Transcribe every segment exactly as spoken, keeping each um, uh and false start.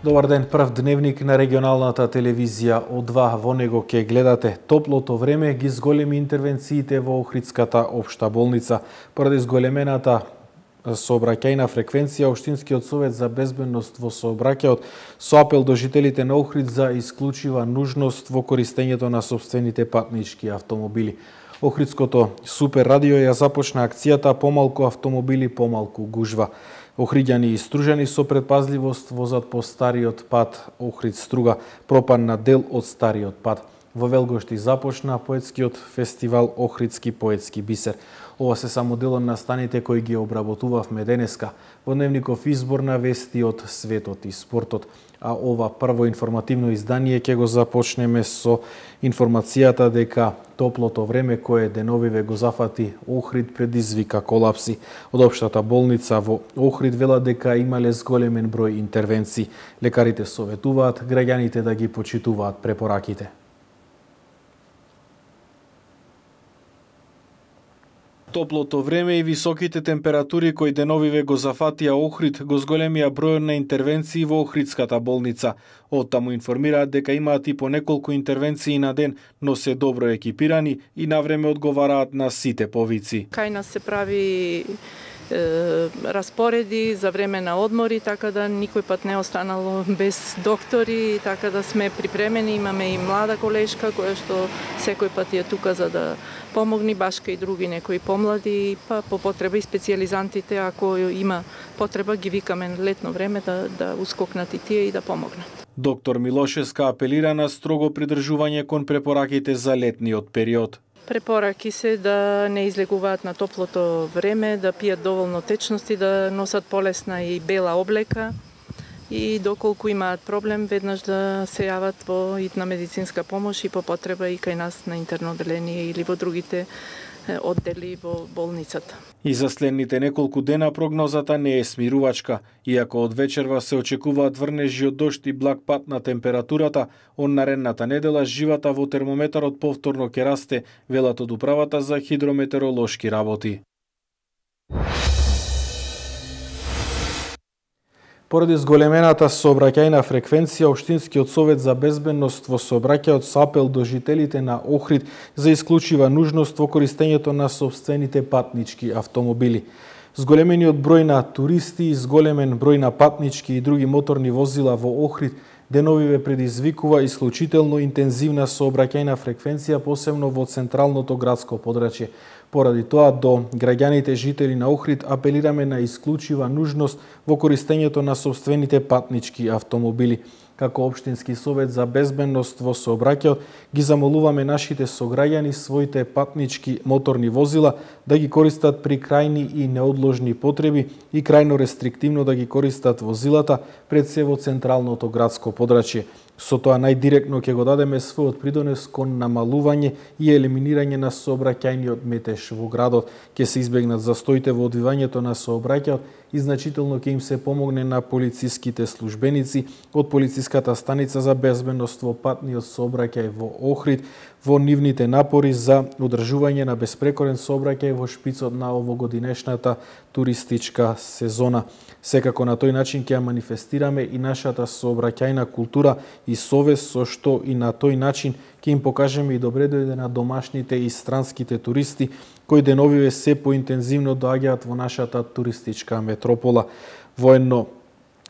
Добар ден, прв дневник на регионалната телевизија од два. Во него ќе гледате топлото време ги зголеми интервенциите во Охридската општа болница. Поради зголемената сообраќајна фреквенција, Општинскиот совет за безбедност во сообраќајот со апел до жителите на Охрид за исклучива нужност во користењето на сопствените патнички автомобили. Охридското супер радио ја започна акцијата "Помалку автомобили, помалку гужва". Охриѓани и стружани со предпазливост возат по стариот пат Охрид-Струга, пропадна дел од стариот пат. Во Велгошти започна поетскиот фестивал Охридски поетски бисер. Ова се само дел од настаните кои ги обработувавме денеска во дневников избор на вести од светот и спортот. А ова прво информативно издание ќе го започнеме со информацијата дека топлото време кое деновиве го зафати Охрид предизвика колапси. Од општата болница во Охрид велат дека имале зголемен број интервенции. Лекарите советуваат граѓаните да ги почитуваат препораките. Топлото време и високите температури кои деновиве го зафатија Охрид го зголемија бројот на интервенции во Охридската болница. Оттаму информираат дека имаат и по неколку интервенции на ден, но се добро екипирани и навреме одговараат на сите повици. Кај нас се прави е, распореди за време на одмори, така да никој пат не останало без доктори, така да сме припремени. Имаме и млада колешка која што секој пат е тука за да помогни, башка и други некои помлади, па по потреба и специјализантите, ако има потреба, ги викаме на летно време да, да ускокнат и тие и да помогнат. Доктор Милошевска апелира на строго придржување кон препораките за летниот период. Препораки се да не излегуваат на топлото време, да пијат доволно течности, да носат полесна и бела облека и доколку имаат проблем, веднаш да се јават во итна медицинска помош и по потреба и кај нас на интерно одделение или во другите оддели во болницата. И за следните неколку дена прогнозата не е смирувачка. Иако од вечерва се очекуваат врнежи од дожд и благ пат на температурата, од наредната недела живата во термометарот повторно ќе расте, велат од управата за хидрометеоролошки работи. Поради зголемената сообраќајна фреквенција, Општинскиот совет за безбедност во сообраќајот со апел до жителите на Охрид за исклучива нужност во користењето на сопствените патнички автомобили. Зголемениот број на туристи и зголемен број на патнички и други моторни возила во Охрид деновиве предизвикува исклучително интензивна сообраќајна фреквенција, посебно во централното градско подрачје. Поради тоа, до граѓаните жители на Охрид апелираме на исклучива нужност во користењето на сопствените патнички автомобили. Како Општински совет за безбедност во сообраќајот ги замолуваме нашите сограѓани своите патнички моторни возила да ги користат при крајни и неодложни потреби и крајно рестриктивно да ги користат возилата пред се во централното градско подрачје. Со тоа најдиректно ќе го дадеме својот придонес кон намалување и елиминирање на сообраќајниот метеж во градот, ќе се избегнат застоите во одвивањето на сообраќајот и значително ќе им се помогне на полициските службеници од полициската станица за безбедност во патниот сообраќај во Охрид во нивните напори за одржување на безпрекорен сообраќај во шпицот на овогодинешната туристичка сезона. Секако на тој начин ќе ја манифестираме и нашата сообраќајна култура и совест, со што и на тој начин ќе им покажеме и добре дојде на домашните и странските туристи кои деновиве се поинтензивно доаѓаат во нашата туристичка метропола. Воедно,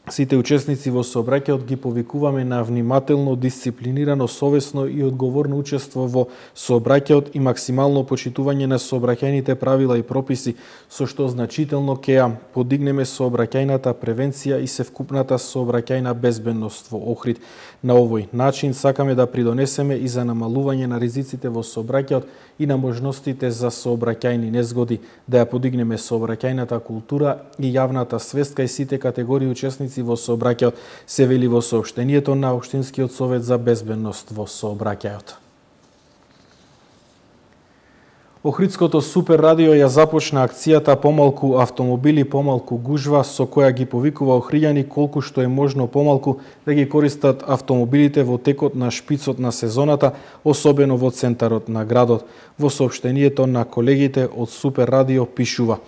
сите учесници во сообраќајот ги повикуваме на внимателно, дисциплинирано, совесно и одговорно учество во сообраќајот и максимално почитување на сообраќајните правила и прописи, со што значително ќе ја подигнеме сообраќајната превенција и севкупната сообраќајна безбедност во Охрид. На овој начин сакаме да придонесеме и за намалување на ризиците во сообраќајот и на можностите за сообраќајни незгоди, да ја подигнеме сообраќајната култура и јавната свест кај сите категории учесници во сообраќајот, се вели во соопштението на Општинскиот совет за безбедност во сообраќајот. Охридското супер радио ја започна акцијата "Помалку автомобили, помалку гужва", со која ги повикува охриѓани колку што е можно помалку да ги користат автомобилите во текот на шпицот на сезоната, особено во центарот на градот. Во соопштението на колегите од Супер радио пишува: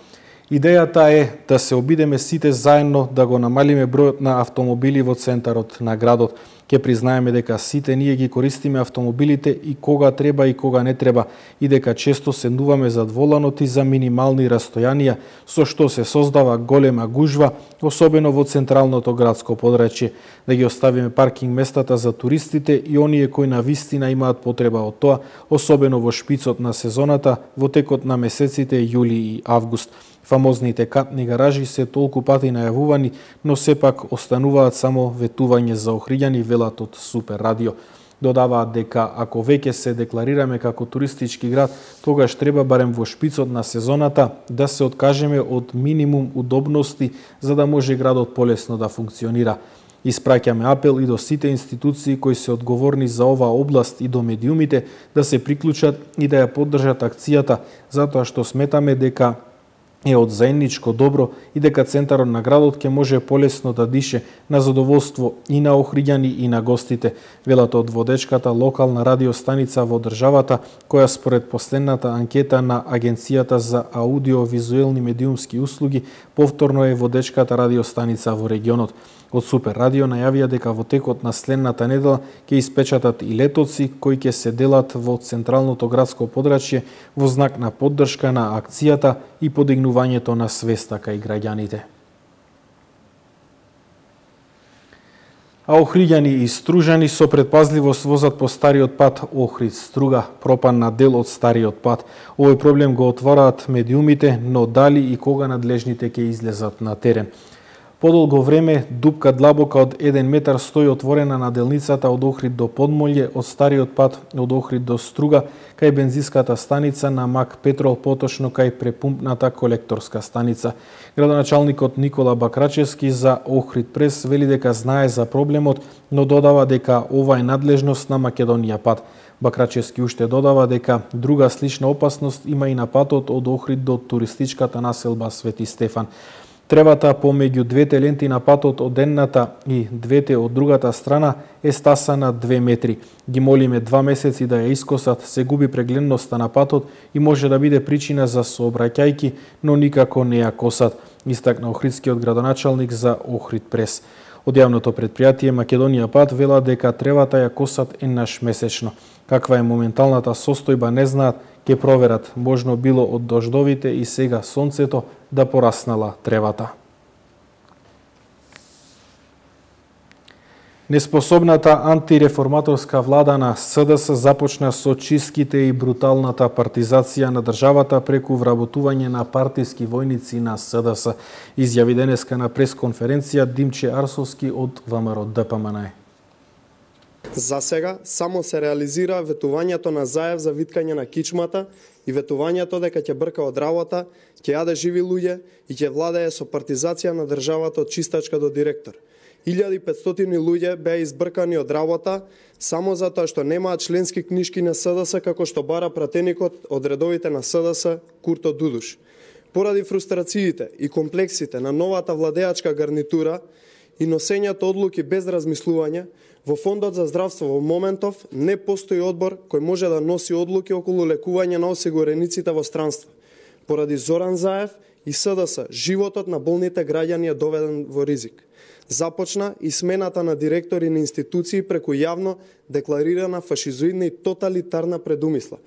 Идејата е да се обидеме сите заедно да го намалиме бројот на автомобили во центарот на градот. Ке признаеме дека сите ние ги користиме автомобилите и кога треба и кога не треба, и дека често седнуваме зад воланот и за минимални растојанија, со што се создава голема гужва, особено во централното градско подрачје. Да ги оставиме паркинг местата за туристите и оние кои на вистина имаат потреба од тоа, особено во шпицот на сезоната, во текот на месеците јули и август. Фамозните катни гаражи се толку пати најавувани, но сепак остануваат само ветување за охриѓани, велат од Супер радио. Додаваат дека ако веќе се декларираме како туристички град, тогаш треба барем во шпицот на сезоната да се откажеме од минимум удобности за да може градот полесно да функционира. Испраќаме апел и до сите институции кои се одговорни за оваа област и до медиумите да се приклучат и да ја поддржат акцијата, затоа што сметаме дека е од заедничко добро и дека центарот на градот ќе може полесно да дише на задоволство и на охриѓани и на гостите, велат од водечката локална радиостаница во државата, која според последната анкета на Агенцијата за аудиовизуелни медиумски услуги повторно е водечката радиостаница во регионот. Од Супер радио најавија дека во текот на следната недела ќе испечатат и летоци кои ќе се делат во централното градско подрачје во знак на поддршка на акцијата и подигнувањето на свеста кај граѓаните. А охриѓани и стружани со предпазливост возат по стариот пат Охрид-Струга, пропан дел од стариот пат. Овој проблем го отвораат медиумите, но дали и кога надлежните ќе излезат на терен. Подолго време дупка длабока од еден метар стои отворена на делницата од Охрид до Подмолје, од стариот пат од Охрид до Струга, кај бензинската станица на Мак Петрол, поточно кај препумпната колекторска станица. Градоначалникот Никола Бакрачевски за Охрид прес вели дека знае за проблемот, но додава дека ова е надлежност на Македонија пат. Бакрачевски уште додава дека друга слична опасност има и на патот од Охрид до туристичката населба Свети Стефан. Тревата помеѓу двете ленти на патот од едната и двете од другата страна е стасана две метри. Ги молиме два месеци да ја искосат, се губи прегледноста на патот и може да биде причина за сообраќајки, но никако не ја косат, истакна охридскиот градоначалник за Охрид прес. Од јавното предпријатие Македонија пат вела дека тревата ја косат еднаш месечно. Каква е моменталната состојба не знаат, ќе проверат, можно било од дождовите и сега сонцето да пораснала тревата. Неспособната антиреформаторска влада на СДС започна со чистките и бруталната партизација на државата преку вработување на партиски војници на СДС, изјави денеска на пресконференција Димче Арсовски од ВМРО Д П М Н Е. За сега само се реализира ветувањето на Заев за виткање на кичмата и ветувањето дека ќе брка од работа, ќе јаде живи луѓе и ќе владее со партизација на државата од чистачка до директор. илјада и петстотини луѓе беа избркани од работа само затоа што немаат членски книшки на СДС како што бара пратеникот од редовите на СДС Курто Дудуш. Поради фрустрациите и комплексите на новата владеачка гарнитура и носењето одлуки без размислување, во Фондот за здравство во моментов не постои одбор кој може да носи одлуки околу лекување на осигурениците во странство. Поради Зоран Заев и СДС, животот на болните граѓани е доведен во ризик. Започна и смената на директори на институции преку јавно декларирана фашизоидна и тоталитарна предумисла.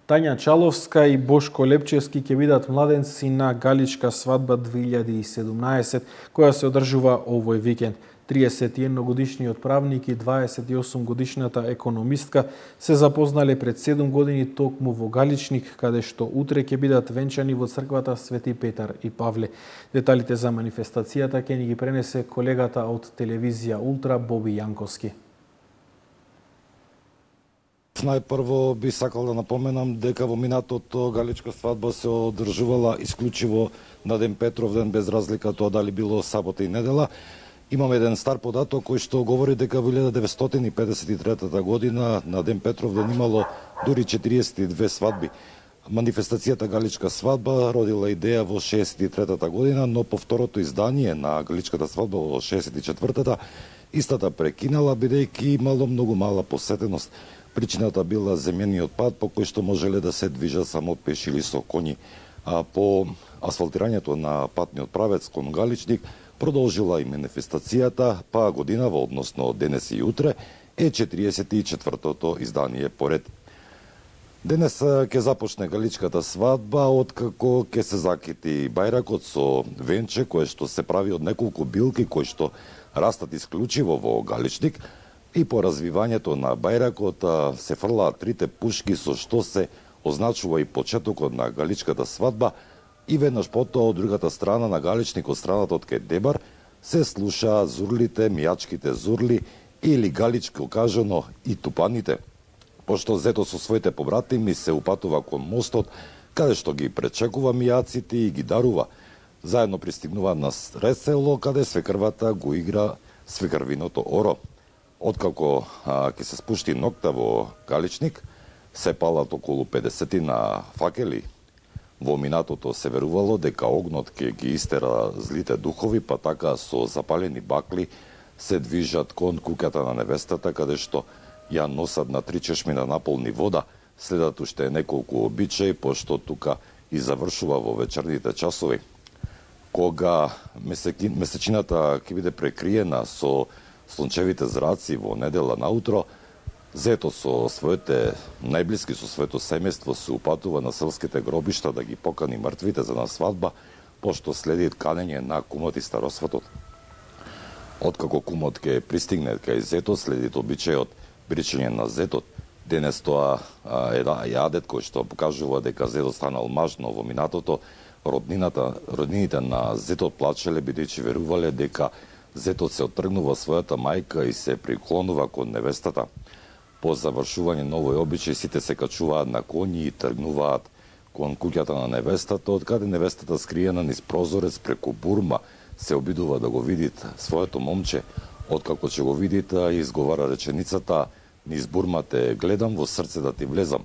Тања Чаловска и Бошко Лепчевски ќе бидат младенци на Галичка свадба две илјади и седумнаесет, која се одржува овој викенд. триесет и едно годишниот правник и дваесет и осум годишната економистка се запознале пред седум години токму во Галичник, каде што утре ќе бидат венчани во црквата Свети Петар и Павле. Деталите за манифестацијата ќе ни ги пренесе колегата од телевизија Ултра Боби Јанковски. Најпрво би сакал да напоменам дека во минатото Галичка свадба се одржувала исклучиво на Ден Петров ден, без разлика тоа дали било сабота и недела. Имаме еден стар податок кој што говори дека во илјада деветстотини и педесет и трета година на Ден Петров ден имало дури четириесет и две свадби. Манифестацијата Галичка свадба родила идеја во шеесет и трета година, но по второто издание на Галичката свадба во шеесет и четвртата Истата прекинала бидејќи имало многу мала посетеност. Причината била земениот пат по кој што можеле да се движат само пеши или со коњи. А по асфалтирањето на патниот правец кон Галичник продолжила и манифестацијата, па годинава, односно денес и утре, е четириесет и четвртото издание поред. Денес ќе започне галичката свадба, откако ќе се закити бајракот со венче, кое што се прави од неколку билки кои што растат исклучиво во Галичник, и по развивањето на бајракот се фрлаат трите пушки со што се означува и почетокот на галичката свадба, и веднаш потоа од другата страна на Галичник, од страната од кај Дебар, се слушаат зурлите, мијачките зурли или галичко кажано и тупаните. Пошто зето со своите побратими се упатува кон мостот, каде што ги пречекува мијаците и ги дарува. Заедно пристигнува на Ресело, каде свекрвата го игра свекрвиното оро. Откако а, ќе се спушти ноќта во Галичник, се палат околу педесет на факели. Во минатото се верувало дека огнот ќе ги истера злите духови, па така со запалени бакли се движат кон куќата на невестата, каде што ја носат на три чешми на наполни вода. Следат уште неколку обичаи, пошто тука и завршува во вечерните часови. Кога месечината ќе биде прекриена со слончевите зраци во недела наутро, зето со своите најблиски, со своето семејство се упатува на селските гробишта да ги покани мртвите за на свадба, пошто следи канење на кумот и старосватот. Откако кумот ќе пристигне кај зето, следи обичајот бричење на зетот. Денес тоа е јадет кој што покажува дека зетот станал маж, но во минатото роднината, роднините на зетот плачеле бидејќи верувале дека зетот се оттргнува својата мајка и се приклонува кон невестата. По завршување на овој обичај сите се качуваат на коњи и тргнуваат кон куќата на невестата, од каде невестата скриена низ прозорец преку бурма се обидува да го види своето момче. Откако ќе го види, изговара реченицата: низ бурма те гледам, во срце да ти влезам.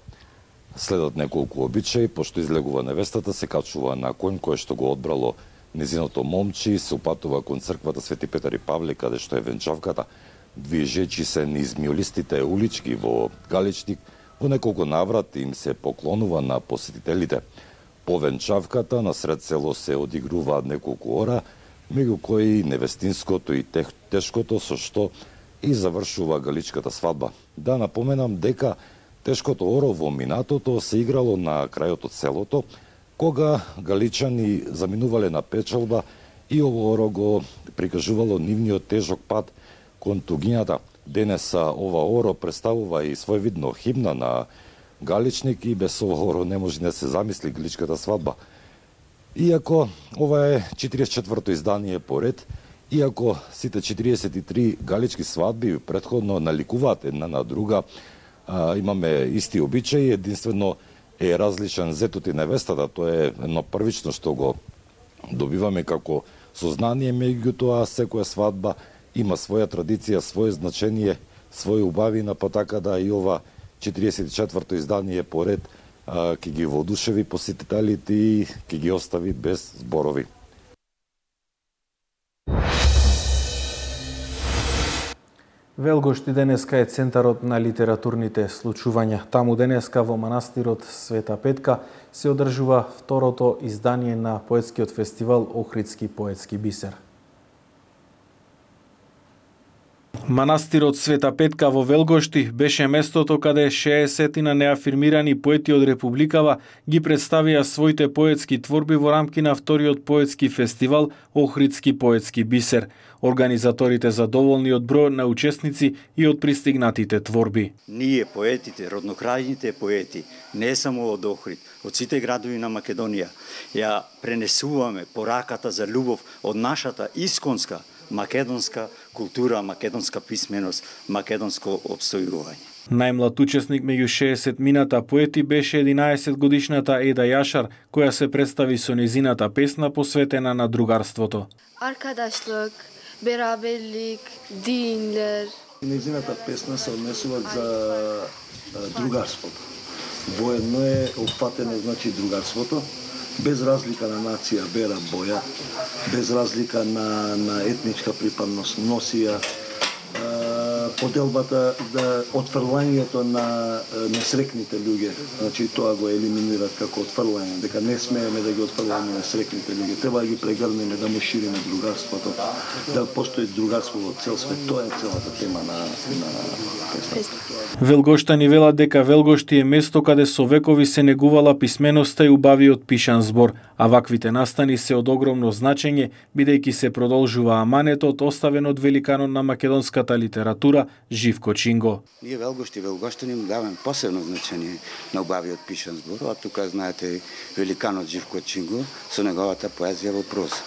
Следат неколку обичаи, пошто излегува невестата, се качува на коњ кое што го одбрало незиното момче и се упатува кон црквата Свети Петар и Павле, каде што е венчавката. Движејќи се низ миолистите улички во Галичник, во неколку наврати им се поклонува на посетителите. По венчавката насред село се одигруваат неколку ора, меѓу кои невестинското и тех, тешкото, со што и завршува галичката свадба. Да напоменам дека тешкото оро во минатото се играло на крајот од селото, кога галичани заминувале на печалба и ово оро го прикажувало нивниот тежок пат кон тугињата. Денес ова оро представува и своевидно химна на Галичник и без ова оро не може да се замисли галичката свадба. Иако ова е четириесет и четврто издание поред, иако сите четириесет и три галички свадби претходно наликуваат една на друга, а, имаме исти обичаи, единствено е различен зетот и невестата. Тоа е едно првично што го добиваме како сознание, меѓутоа секоја свадба има своја традиција, свое значение, своји убавина, па така да и ова четириесет и четврто издание поред ќе ги воодушеви посетителите и ќе ги остави без зборови. Велгошти денеска е центарот на литературните случувања. Таму денеска во манастирот Света Петка се одржува второто издание на поетскиот фестивал Охридски поетски бисер. Манастирот Света Петка во Велгошти беше местото каде шеесет на неафирмирани поети од Републикава ги представија своите поетски творби во рамки на вториот поетски фестивал Охридски поетски бисер. Организаторите задоволни од бројот на учесници и од пристигнатите творби. Ние поетите, роднокрајните поети, не само од Охрид, од сите градови на Македонија, ја пренесуваме пораката за љубов од нашата исконска македонска култура, македонска писменост, македонско обстојување. Најмлад учесник меѓу шеесет мината поети беше единаесет годишната Еда Јашар, која се представи со незината песна посветена на другарството. Аркадашлык, бераберлик, динлер. Незината песна се однесува за другарството. Воедно е опфатено, значи, другарството, без разлика на нација, бера, боја, без разлика на, на етничка припадност, носија, поделбата да отфрлањето на несрекните луѓе, значи тоа го елиминират како отфрлање, дека не смееме да ги отфрламе несрекните луѓе. Треба да ги прегрнеме, да му шириме другарството, да постои другарство во цел свет. Тоа е целата тема на на фестивалот. Велгоштани велат дека Велгошти е место каде со векови се негувала писменоста и убавиот пишан збор, а ваквите настани се од огромно значење, бидејќи се продолжува аманетот оставен од великанот на македонската литература Живко Чинго. Ние Велгошти, Велгоштани му даваме посебно значење на убавиот пишан збор, а тука знаете великанот Живко Чинго со неговата поезија во проза.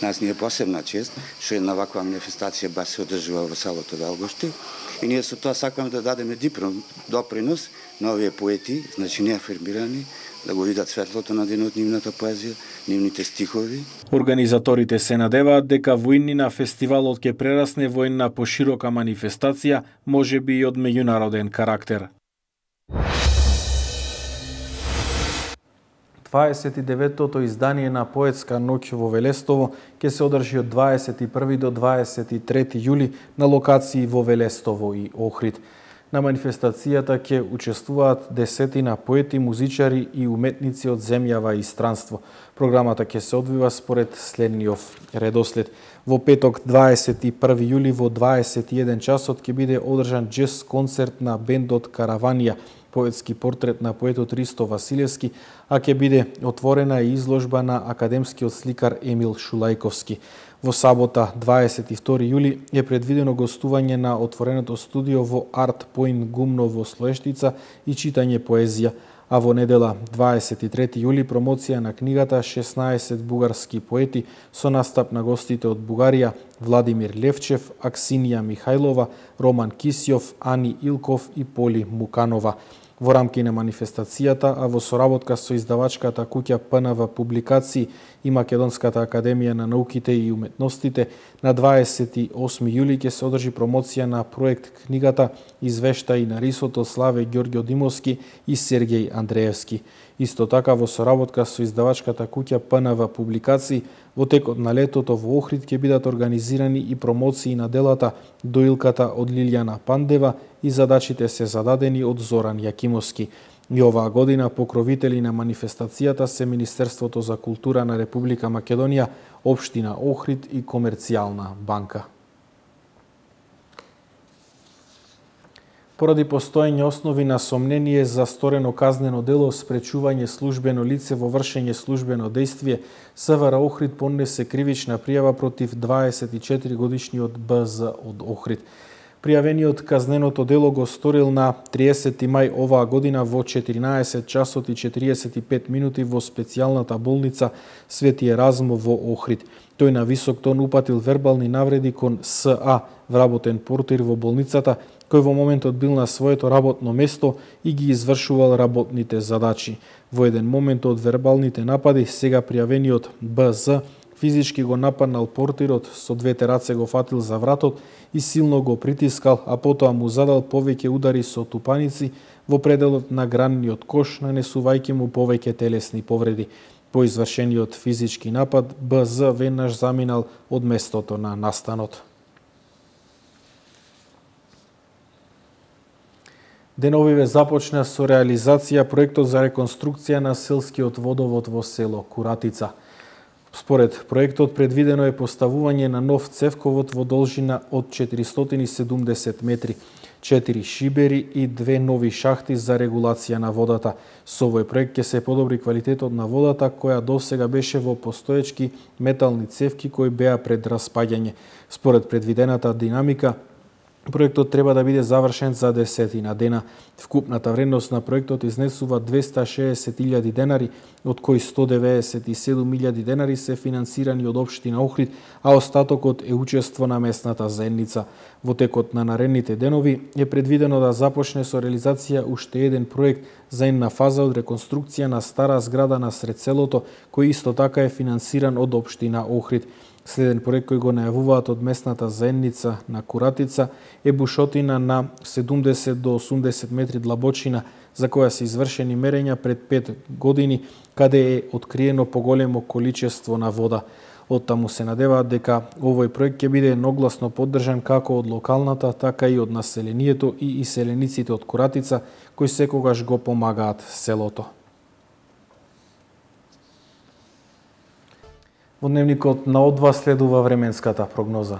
Нас ни е посебна чест што една ваква манифестација ба се одржува во селото Велгошти и ние со тоа сакаме да дадеме диплом допринос на овие поети, значи неафирмирани, да го видат светлото на денот нивната поезија, нивните стихови. Организаторите се надеваат дека во иднина фестивалот ќе прерасне во една поширока манифестација, можеби и од меѓународен карактер. дваесет и деветото издание на Поетска ноќ во Велестово ќе се одржи од дваесет и први до дваесет и трети јули на локации во Велестово и Охрид. На манифестацијата ќе учествуваат десетина поети, музичари и уметници од земјава и странство. Програмата ќе се одвива според следниот редослед. Во петок дваесет и први јули во дваесет и еден часот ќе биде одржан џез концерт на бендот Караванија, поетски портрет на поетот Ристо Василевски, а ќе биде отворена и изложба на академскиот сликар Емил Шулајковски. Во сабота, дваесет и втори јули, е предвидено гостување на отвореното студио во Арт Поинт Гумно во Слоештица и читање поезија, а во недела, дваесет и трети јули, промоција на книгата шеснаесет бугарски поети со настап на гостите од Бугарија Владимир Левчев, Аксинија Михајлова, Роман Кисјов, Ани Илков и Поли Муканова. Во рамки на манифестацијата, а во соработка со издавачката куќа П Н В Публикации и Македонската академија на науките и уметностите, на дваесет и осми јули ќе се одржи промоција на проект книгата Извештаи на рисото Славе Ѓорѓо Димовски и Сергеј Андреевски. Исто така во соработка со издавачката куќа П Н В Публикации, во текот на летото во Охрид ќе бидат организирани и промоции на делата Доилката од Лилјана Пандева и Задачите се зададени од Зоран Јакимовски. И оваа година покровители на манифестацијата се Министерството за култура на Република Македонија, Општина Охрид и Комерцијална банка. Поради постоење основи на сомнение за сторено казнено дело спречување службено лице во вршење службено дејствие, С В Р Охрид поднесе кривична пријава против дваесет и четири годишниот Б З од Охрид. Пријавениот казненото дело го сторил на триесети мај оваа година во четиринаесет часот и четириесет и пет минути во специјалната болница Свети Еразмо во Охрид. Тој на висок тон упатил вербални навреди кон С А, вработен портир во болницата, кој во моментот бил на своето работно место и ги извршувал работните задачи. Во еден момент од вербалните напади, сега пријавениот Б З физички го нападнал портирот, со двете раце го фатил за вратот и силно го притискал, а потоа му задал повеќе удари со тупаници во пределот на гранниот кош, нанесувајќи му повеќе телесни повреди. По извршениот физички напад, Б З веднаш заминал од местото на настанот. Деновиве започна со реализација проектот за реконструкција на селскиот водовод во село Куратица. Според проектот предвидено е поставување на нов цевковод во должина од четиристотини и седумдесет метри, четири шибери и две нови шахти за регулација на водата. Со овој проект ќе се подобри квалитетот на водата, која досега беше во постоечки метални цевки кои беа пред распаѓање. Според предвидената динамика, проектот треба да биде завршен за десетина дена. Вкупната вредност на проектот изнесува двеста шеесет илјади денари, од кои сто деведесет и седум илјади денари се финансирани од Општина Охрид, а остатокот е учество на местната заедница. Во текот на наредните денови е предвидено да започне со реализација уште еден проект за една фаза од реконструкција на стара зграда на сред селото, кој исто така е финансиран од Општина Охрид. Следен проект кој го најавуваат од местната заедница на Куратица е бушотина на седумдесет до осумдесет метри длабочина, за која се извршени мерења пред пет години, каде е откриено поголемо количество на вода. Оттаму се надеваат дека овој проект ќе биде едногласно поддржан како од локалната, така и од населението и иселениците од Куратица, кои секогаш го помагаат селото. Во дневникот на О два следува временската прогноза.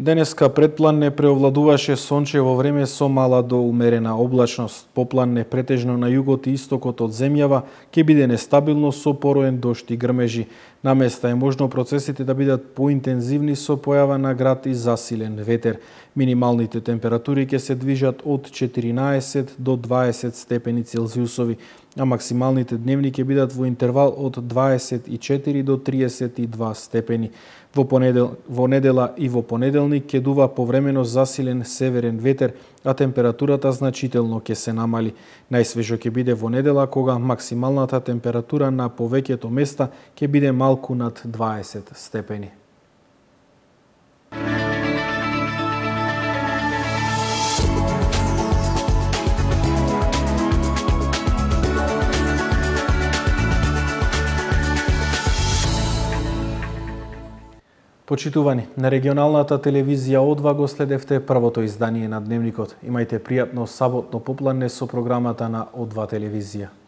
Денеска предпланне преовладуваше сончево време со мала до умерена облачност. Попланне претежно на југот и истокот од земјава ќе биде нестабилно со пороен дожд и грмежи. На места е можно процесите да бидат поинтензивни со појава на град и засилен ветер. Минималните температури ќе се движат од четиринаесет до дваесет степени Целзиусови, а максималните дневни ќе бидат во интервал од дваесет и четири до триесет и два степени. Во, понедел, во недела и во понеделник ќе дува повремено засилен северен ветер, а температурата значително ќе се намали. Најсвежо ќе биде во недела, кога максималната температура на повеќето места ќе биде малку над дваесет степени. Почитувани, на регионалната телевизија О два го следевте првото издание на Дневникот. Имајте пријатно саботно попланне со програмата на О два телевизија.